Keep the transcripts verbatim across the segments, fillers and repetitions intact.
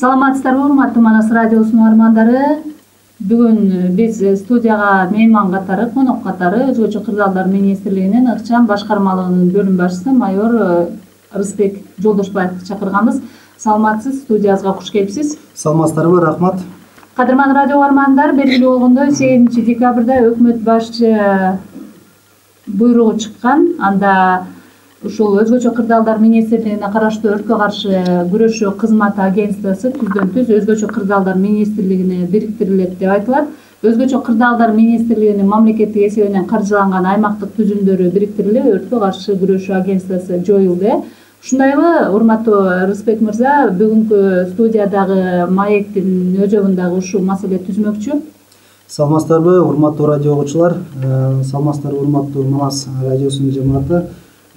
Саламатсыздарбы, урматтуу Манас радиосунун армандары. Бүгүн биз студияга мейман катары, конок катары Өзгөчө кырдаалдар министрлигинин ыкчам башкармалыгынын бөлүм башчысы майор Рысбек Жолдошбаевди чакырганбыз. Саламатсыз, студиябызга куш келипсиз. Саламатсыздарбы, рахмат. Кадырман радио армандар, белгилүү болгондой сегизинчи декабрда өкмөт башчы буйругу чыккан. Анда ушул Өзгөчө кырдаалдар министрлигине караштуу өрткө каршы күрөшүү кызматы агентствосу түздөн түз Өзгөчө кырдаалдар министрлигине бириктирилет деп айтылат. Өзгөчө кырдаалдар министрлигинин мамлекеттик эсебинен каржыланган аймактык түзүмдөрү бириктирилип, өрткө каршы күрөшүү агентствосу жоюлду. Ушундайбы, урматтуу Рысбек мырза, бүгүнкү студиядагы маектин өзөгүндагы ушул маселе түзмөкчү. Саламатсыздарбы, урматтуу радио угуучулар, саламатсыздарбы, урматтуу Манас радиосунун жамааты.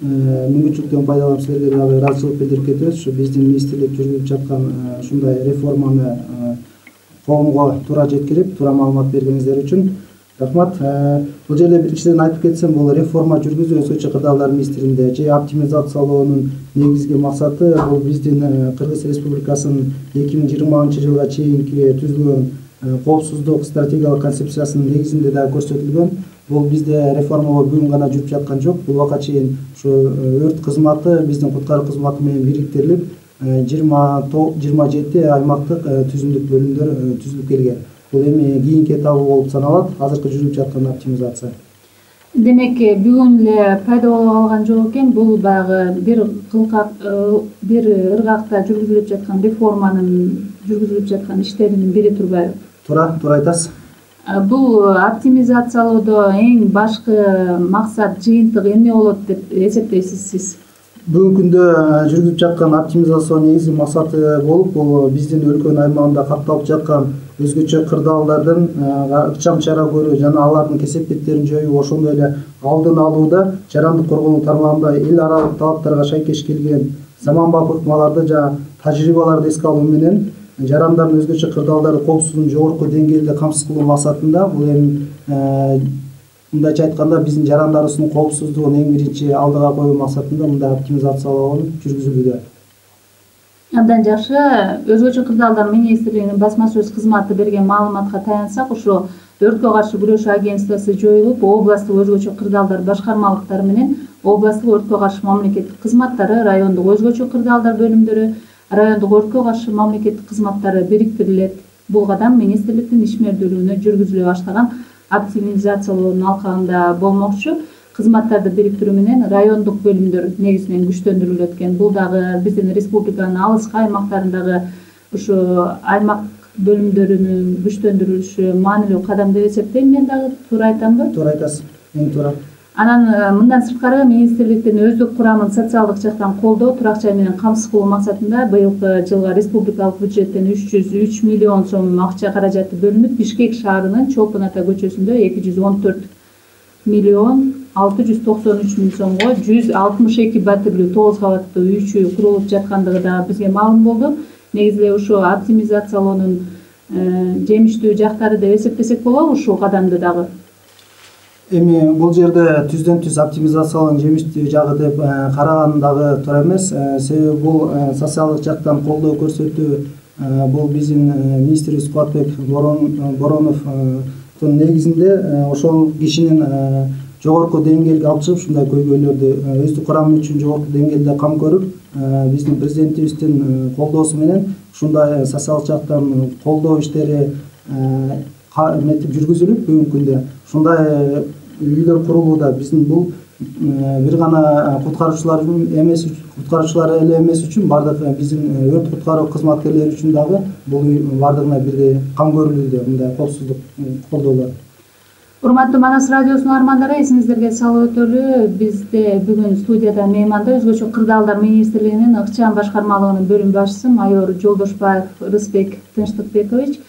Мүмкүнчүлүктөн пайдаланып силерге дагы ыраазычылык билдирип кетебиз. Ушу биздин министрлик жүргүзүп жаткан ушундай реформаны коомго туура жеткирип, туура маалымат бергениңиздер үчүн рахмат. Бул жерде биринчиден айтып кетсем, бул реформа жүргүзүү Өзгөчө кырдаалдар министрлигинде же оптимизациялоонун негизги максаты бул биздин Кыргыз Республикасынын эки миң жыйырманчы жылга чейинки түзүлгөн коопсуздук стратегиялык концепциясынын негизинде да көрсөтүлгөн. Бул бизде реформалоо бүгүн гана жүрүп жаткан жок. Бул убакка чейин ушу өрт кызматы биздин куткаруу кызматы менен бириктирилип, жыйырма жети аймактык түзүмдүк бөлүмдөр түзүлүп келген. Бул эми кийинки этабы болуп саналат, азыркы жүрүп жаткан оптимизация. Демек, бүгүн эле пайда боло калган жок экен. Бул баягы бир кылкак, бир ыргакта жүргүзүлүп жаткан реформанын жүргүзүлүп жаткан иштеринин бири турбайбы? Туура, туура айтасыз. Бул оптимизациялоодо эң башкы максат, жыйынтык эмне болот деп эсептейсиз сиз? Бүгүнкү күндө жүргүзүп жаткан оптимизациянын негизги максаты болуп, бул биздин өлкөнүн аймагында катталып жаткан өзгөчө кырдаалдардын ыкчам чара көрүү жана алардын кесепеттерин жоюу, ошондой эле алдын алууда жарандык коргонуу тармагында эл аралык талаптарга шайкеш келген заманбап ыкмаларды жана тажрыйбаларды эске алуу менен жарандардын өзгөчө кырдаалдарды коопсуздугун жогорку деңгээлде камсыз кылуу максатында, бул эми мындайча айтканда биздин жарандарыбыздын коопсуздугун эң биринчи алдыга коюу максатында мындай оптимизациялоо жүргүзүлүүдө. Абдан жакшы. Өзгөчө кырдаалдар министрлигинин басма сөз кызматы берген маалыматка таянсак, ушу өрткө каршы күрөшүү агентствосу жоюлуп, областтык өзгөчө кырдаалдар башкармалыктары менен областтык өрткө каршы мамлекеттик кызматтары, райондук өзгөчө кырдаалдар бөлүмдөрү, райондук өрткө каршы мамлекеттик кызматтары бириктирилет. Бул кадам министрликтин ишмердүүлүгүнө жүргүзүлө баштаган оптимизациялоонун алкагында болмокчу. Кызматтарды бириктирүү менен райондук бөлүмдөр негизинен күчтөндүрүлөт экен. Бул дагы биздин республиканын алыскы аймактарындагы ушу аймак бөлүмдөрүнүн күчтөндүрүлүшү маанилүү кадам деп эсептейм. Мен дагы туура айтамбы? Туура айтасыз. Эң туура. Анан мындан сырткары министрликтин өздүк курамын социалдык жактан колдоо, турак жай менен камсыз кылуу максатында быйылкы жылга республикалык бюджеттен үч жүз үч миллион сом акча каражаты бөлүнүп, Бишкек шаарынын Чолпон ата көчөсүндө эки жүз он төрт миллион алты жүз токсон үч миң сомго жүз алтымыш эки батирлүү тогуз кабаттуу үй чүй курулуп жаткандыгы да бизге маалым болду. Негизи эле ушу оптимизациялоонун жемиштүү жактары деп эсептесек болобу ушул кадамды дагы? Эми бул жерде түздөн түз оптимизациялоонун жемиштүү жагы деп караган дагы туура эмес. Себеби бул социалдык жактан колдоо көрсөтүү, бул биздин министрибиз Кубатбек Бороновдун негизинде ошол кишинин жогорку деңгээлге алып чыгып, ушундай көйгөйлөрдү өздүк курамы үчүн жогорку деңгээлде кам көрүп, биздин президентибиздин колдоосу менен ушундай социалдык жактан колдоо иштери эметип жүргүзүлүп, бүгүнкү күндө ушундай үйлөр курулууда. Биздин бул бир гана куткаруучулар эмес, куткаруучулар эле эмес үчүн, бардык биздин өрт куткаруу кызматкерлери үчүн дагы бул бардыгына бирдей кам көрүлүүдө мындай коопсуздук колдоолор. Урматтуу Манас радиосунун армандары, эсиңиздерге салып өтөлү, бизде бүгүн студияда мейманда Өзгөчө кырдаалдар министрлигинин ыкчам башкармалыгынын бөлүм башчысы майор Жолдошбаев Рысбек Тынчтыкбекович.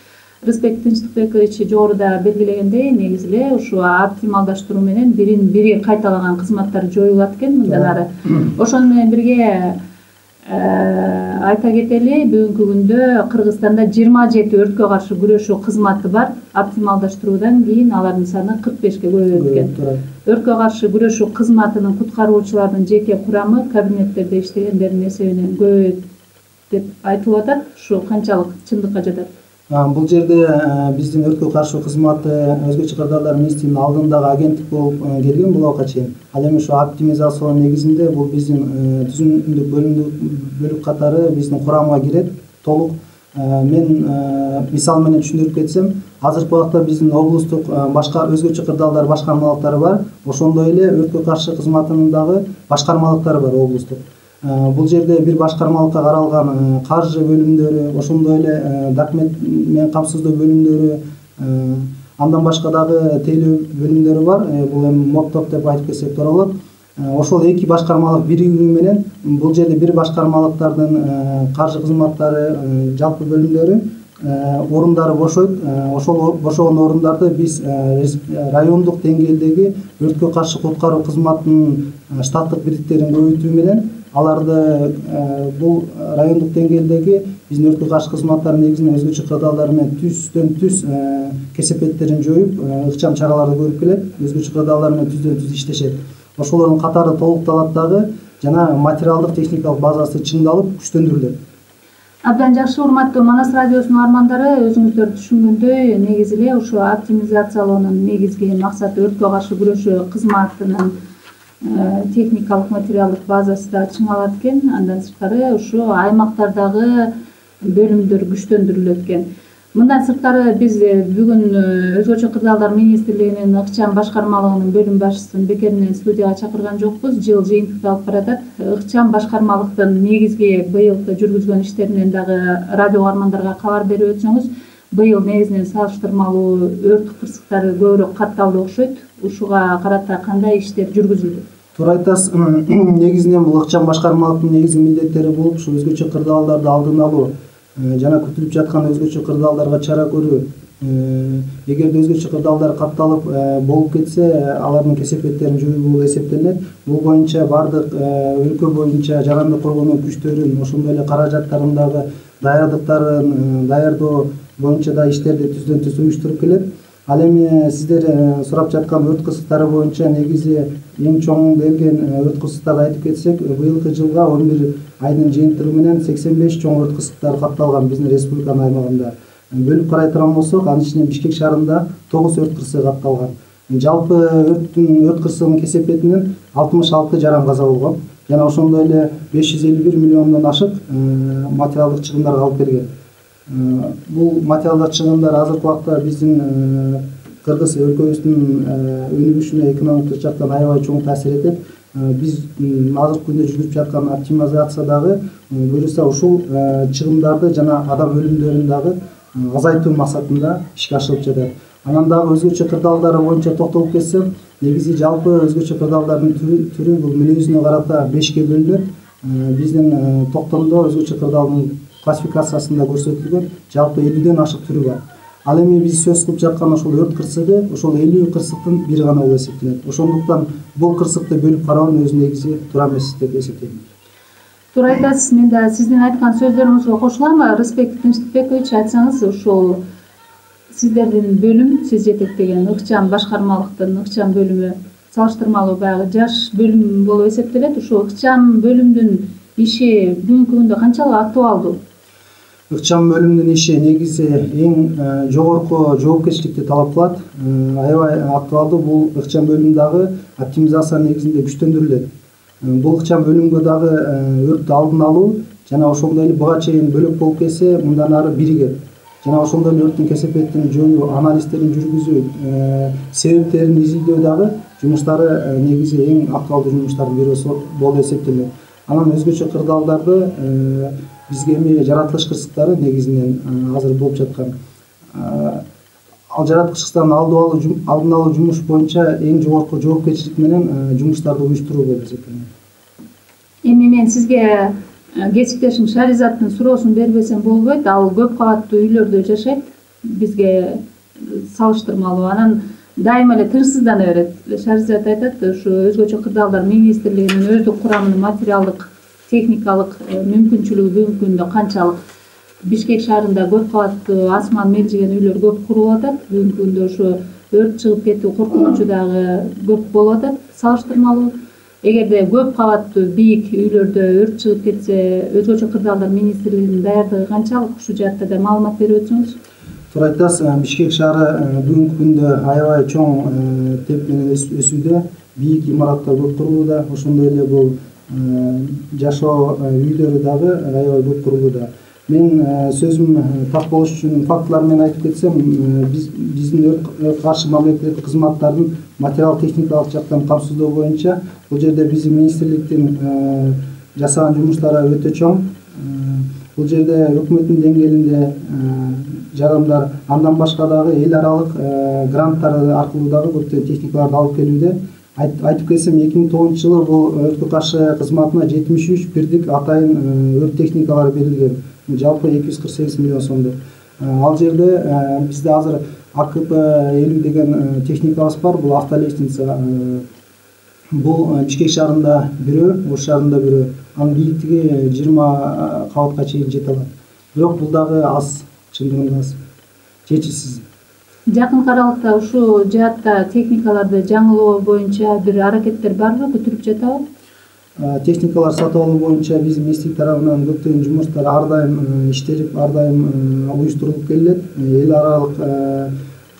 Рысбек Тынчтыкбекович жогоруда белгилегендей, негизи эле ушу оптималдаштыруу менен бирин бири кайталаган кызматтар жоюлат экен мындан ары. Ошону менен бирге айта кетели, бүгүнкү күндө Кыргызстанда жыйырма жети өрткө каршы күрөшүү кызматы бар. Оптималдаштыруудан кийин алардын саны кырк бешке көбөйөт экен. Өрткө каршы күрөшүү кызматынын куткаруучулардын жеке курамы кабинеттерде иштегендердин эсебинен көбөйөт деп айтылып атат. Ушу канчалык чындыкка жатат? Бул жерде биздин өрткө каршы кызматы өзгөчө кырдаалдар министрлигинин алдындагы агенттик болуп келген буга чейин. Ал эми ушу оптимизациялоо негизинде бул биздин түзүмдүк бөлүк катары биздин курамга кирет толук. Мен мисал менен түшүндүрүп кетсем, азыркы убакта биздин облустук башка өзгөчө кырдаалдар башкармалыктары бар. Ошондой эле өрткө каршы кызматынын дагы башкармалыктары бар облустук. Бул жерде бир башкармалыкка каралган каржы бөлүмдөрү, ошондой эле документ менен камсыздоо бөлүмдөрү, андан башка дагы тейлөө бөлүмдөрү бар. Бул эми моптоп деп айтып кетсек туура болот. Ошол эки башкармалык биригүү менен бул жерде бир башкармалыктардын каржы кызматтары, жалпы бөлүмдөрү орундары бошойт. Ошол бошогон орундарды биз райондук деңгээлдеги өрткө каршы куткаруу кызматынын штаттык бириктиктерин көбөйтүү менен аларды бул райондук деңгээлдеги биздин өрткө каршы кызматтар негизинен өзгөчө кырдаалдар менен түздөн түз кесепеттерин жоюп, ыкчам чараларды көрүп келет. Өзгөчө кырдаалдар менен түздөн түз иштешет. Ошолордун катары толукталат дагы, жана материалдык техникалык базасы чыңдалып, күчтөндүрүлөт. Абдан жакшы, урматтуу Манас радиосунун армандары, өзүңүздөр түшүнгөндөй, негизи эле ушу оптимизациялоонун негизги максаты өрткө каршы күрөшүү кызматынын техникалык материалдык базасы да чыңалат экен. Андан сырткары ушу аймактардагы бөлүмдөр күчтөндүрүлөт экен. Мындан сырткары биз бүгүн өзгөчө кырдаалдар министрлигинин ыкчам башкармалыгынын бөлүм башчысын бекеринен студияга чакырган жокпуз. Жыл жыйынтыкта алып баратат. Ыкчам башкармалыктын негизги быйылкы жүргүзгөн иштеринен дагы радио угармандарга кабар берип өтсөңүз, быйыл негизинен салыштырмалуу өрт кырсыктары көбүрөөк катталды окшойт. Ушуга карата кандай иштер жүргүзүлдү? Туура айтасыз. Негизинен бул ыкчам башкармалыктын негизги милдеттери болуп, ушу өзгөчө кырдаалдарды алдын алуу жана күтүлүп жаткан өзгөчө кырдаалдарга чара көрүү. Эгерде өзгөчө кырдаалдар катталып болуп кетсе, алардын кесепеттерин жоюу болуп эсептелет. Бул боюнча бардык өлкө боюнча жарандык коргонуу күчтөрүн, ошондой эле каражаттарын дагы даярдыктарын даярдоо боюнча да иштерди түздөн түз уюштуруп келет. Ал эми сиздер сурап жаткан өрт кырсыктары боюнча негизи эң чоң берген өрт кырсыктарды айтып кетсек, быйылкы жылга он бир айдын жыйынтыгы менен сексен беш чоң өрт кырсыктары катталган биздин республиканын аймагында. Бөлүп карай турган болсок, анын ичинен Бишкек шаарында тогуз өрт кырсыгы катталган. Жалпы өрттүн өрт кырсыгынын кесепетинен алтымыш алты жаран каза болгон жана ошондой эле беш жүз элүү бир миллиондон ашык материалдык чыгымдарга алып берген. Бул материалдык чыгымдар азыркы убакта биздин Кыргыз өлкөбүздүн өнүгүшүнө экономикалык жактан аябай чоң таасир этет. Биз азыркы күндө жүргүзүп жаткан оптимизациядагы буюрса ушул чыгымдарды жана адам өлүмдөрүн дагы азайтуу максатында ишке ашырылып жатат. Анан дагы өзгөчө кырдаалдар боюнча токтолуп кетсем, негизи жалпы өзгөчө кырдаалдардын түрү бул мүнөзүнө карата бешке бөлүнөт. Биздин токтомдо өзгөчө кырдаалдын классификациясында көрсөтүлгөн жалпы элүүдөн ашык түрү бар. Ал эми биз сөз кылып жаткан ошол өрт кырсыгы ошол элүү кырсыктын бири гана болуп эсептелет. Ошондуктан бул кырсыкты бөлүп кароонун өзү негизи туура эмес деп эсептейм. Туура айтасыз. Мен да сиздин айткан сөздөрүңүзгө кошулам. Рыспек Тынчтыкбекович, айтсаңыз, ушул сиздердин бөлүм, сиз жетектеген ыкчам башкармалыктын ыкчам бөлүмү салыштырмалуу баягы жаш бөлүм болуп эсептелет. Ушул ыкчам бөлүмдүн иши бүгүнкү күндө канчалык актуалдуу? Ыкчам бөлүмдүн иши негизи эң жогорку жоопкерчиликти талап кылат. Аябай актуалдуу. Бул ыкчам бөлүм дагы оптимизация негизинде күчтөндүрүлөт. Бул ыкчам бөлүмгө дагы өрттү алдын алуу жана ошондой эле буга чейин бөлөк болуп кетсе, мындан ары биригет. Жана ошондой эле өрттүн кесепетин жоюу, анализдерин жүргүзүү, себептерин изилдөө дагы жумуштары негизи эң актуалдуу жумуштардын бири болуп эсептелет. Анан өзгөчө кырдаалдарды бизге эми жаратылыш кырсыктары негизинен азыр болуп жаткан. Ал жаратылыш кырсыктарын алдын алуу жумуш боюнча эң жогорку жоопкерчилик менен жумуштарды уюштуруу болуп эсептелет. Эми мен сизге кесиптешим Шаризаттын суроосун бербесем болбойт. Ал көп кабаттуу үйлөрдө жашайт, бизге салыштырмалуу. Анан дайыма эле тынчсыздана берет. Шаризат айтат, ушу өзгөчө кырдаалдар министрлигинин өздүк курамынын материалдык техникалык мүмкүнчүлүгү бүгүнкү күндө канчалык? Бишкек шаарында көп кабаттуу асман мелжиген үйлөр көп курулуп атат. Бүгүнкү күндө ушу өрт чыгып кетүү коркунучу дагы көп болуп атат салыштырмалуу. эгерде көп кабаттуу бийик үйлөрдө өрт чыгып кетсе, өзгөчө кырдаалдар министрлигинин даярдыгы канчалык? Ушул жаатта да маалымат берип өтсөңүз. Туура айтасыз. Бишкек шаары бүгүнкү күндө аябай чоң темп менен өсүүдө. Бийик имараттар көп курулууда. Ошондой эле бул жашоо үйлөрү дагы аябай көп курулууда. Мен сөзүм так болуш үчүн фактылар менен айтып кетсем, биз биздин өрт каршы мамлекеттик кызматтардын материал техникалык жактан камсыздоо боюнча бул жерде биздин министрликтин жасаган жумуштары өтө чоң. Бул жерде өкмөттүн деңгээлинде жардамдар, андан башка дагы эл аралык гранттар аркылуу дагы көптөгөн техникаларды алып келүүдө. Айтып кетсем, эки миң тогузунчу жылы бул өрткө каршы кызматына жетимиш үч бирдик атайын өрт техникалары берилген. Жалпы эки жүз кырк сегиз миллион сомдо. Ал жерде бизде азыр А К П элүү деген техникабыз бар. Бул автолестница. Бул Бишкек шаарында бирөө, Ош шаарында бирөө. Анын бийиктиги жыйырма кабатка чейин жете алат. Бирок бул дагы аз, чындыгында аз, жетишсиз. Жакын аралыкта ушул жаатта техникаларды жаңылоо боюнча бир аракеттер барбы, бүтүрүп жатабы? Техникалар сатып алуу боюнча биздин министрлик тарабынан көптөгөн жумуштар ар дайым иштелип, ар дайым уюштурулуп келет. Эл аралык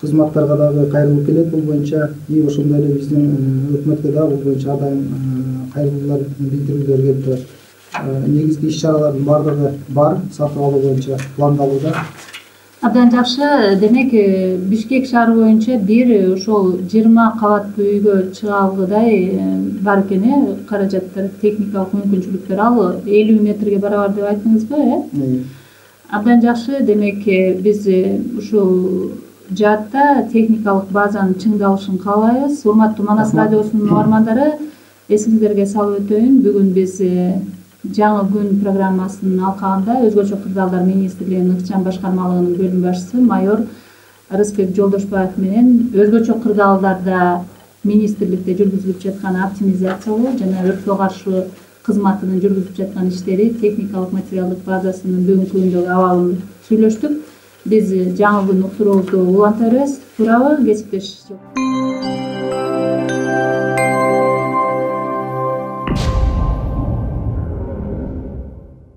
кызматтарга дагы кайрылып келет бул боюнча. И ошондой эле биздин өкмөткө дагы бул боюнча ар дайым кайрылуулар билдирүүлөр келип турат. Негизги иш-чаралардын баардыгы бар, сатып алуу боюнча пландалууда. Абдан жакшы. Демек, Бишкек шаары боюнча бир ошол жыйырма кабаттуу үйгө чыга алгыдай бар экен, э? Каражаттар, техникалык мүмкүнчүлүктөр ал элүү метрге барабар деп айттыңызбы, э? Абдан жакшы. Демек, биз ушул жаатта техникалык базанын чыңдалышын каалайбыз. Урматтуу Манас радиосунун угармандары, эсиңиздерге салып өтөйүн, бүгүн биз Жаңы күн программасынын алкагында Өзгөчө кырдаалдар министрлигинин ыкчам башкармалыгынын бөлүм башчысы майор Арызбек Жолдошбаев менен өзгөчө кырдаалдарда министрликте жүргүзүлүп жаткан оптимизациялоо жана өрткө каршы кызматынын жүргүзүп жаткан иштери, техникалык материалдык базасынын бүгүнкү күндөгү абалын сүйлөштүк. Биз жаңы күн уктуруубузду уланта беребиз. Туурабы, кесиптеш?